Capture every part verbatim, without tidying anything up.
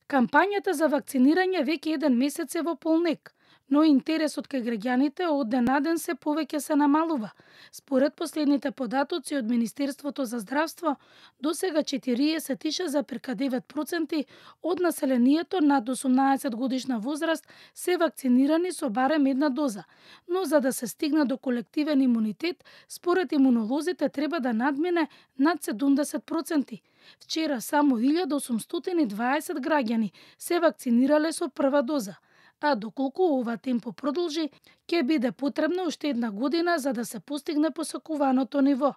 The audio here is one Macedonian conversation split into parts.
Кампањата за вакцинирање веќе еден месец е во полнек, но интересот кај граѓаните од ден на ден се повеќе се намалува. Според последните податоци од Министерството за здравство, досега четириесет и шест зарез девет проценти од населението над осумнаесет годишна возраст се вакцинирани со барем една доза, но за да се стигне до колективен имунитет, според имунолозите треба да надмине над седумдесет проценти. Вчера само илјада осумстотини и дваесет граѓани се вакцинирале со прва доза, а доколку ова темпо продолжи, ќе биде потребна уште една година за да се постигне посакуваното ниво.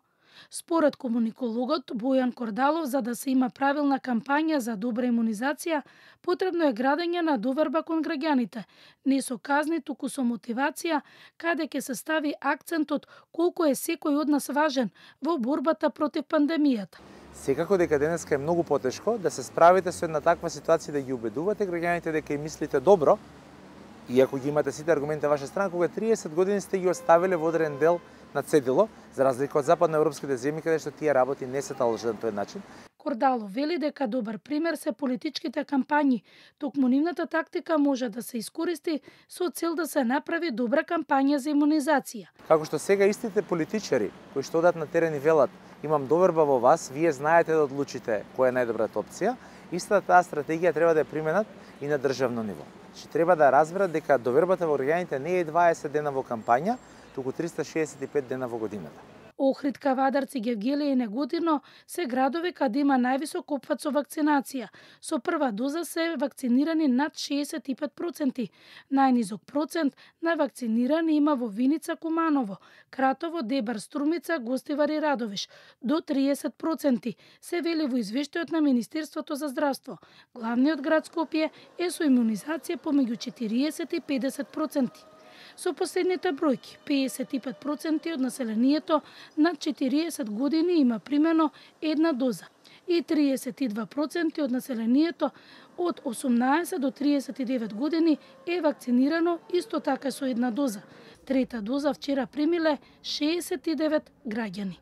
Според комуникологот Бојан Кордалов, за да се има правилна кампања за добра имунизација, потребно е градење на доверба кон граѓаните, не со казни, туку со мотивација, каде ќе се стави акцентот колку е секој од нас важен во борбата против пандемијата. Секако дека денеска е многу потешко да се справите со една таква ситуација, да ги убедувате граѓаните дека им мислите добро, иако ги имате сите аргументи на ваша страна, кога триесет години сте ги оставиле во одреден дел на цедило, за разлика од западноевропските земји, каде што тие работи не се талажат на тој начин. Кордалов вели дека добар пример се политичките кампањи, токму нивната тактика може да се искористи со цел да се направи добра кампања за имунизација. Како што сега истите политичари кои што одат на терен и велат имам доверба во вас, вие знаете да одлучите која е најдобрата опција, истата таа стратегија треба да ја применат и на државно ниво. Че треба да разберат дека довербата во граѓаните не е дваесет дена во кампања, туку триста шеесет и пет дена во годината. Охрид, Кавадарци, Гевгелија и Неготино се градови каде има највисок опфат со вакцинација. Со прва доза се вакцинирани над шеесет и пет проценти. Најнизок процент на вакцинирани има во Виница, Куманово, Кратово, Дебар, Струмица, Гостивар и Радовиш, до триесет проценти, се вели во извештајот на Министерството за здравство. Главниот град Скопје е со имунизација помеѓу четириесет и педесет проценти. Со последните бројки, педесет и пет проценти од населението над четириесет години има примено една доза и триесет и два проценти од населението од осумнаесет до триесет и девет години е вакцинирано исто така со една доза. Трета доза вчера примиле шеесет и девет граѓани.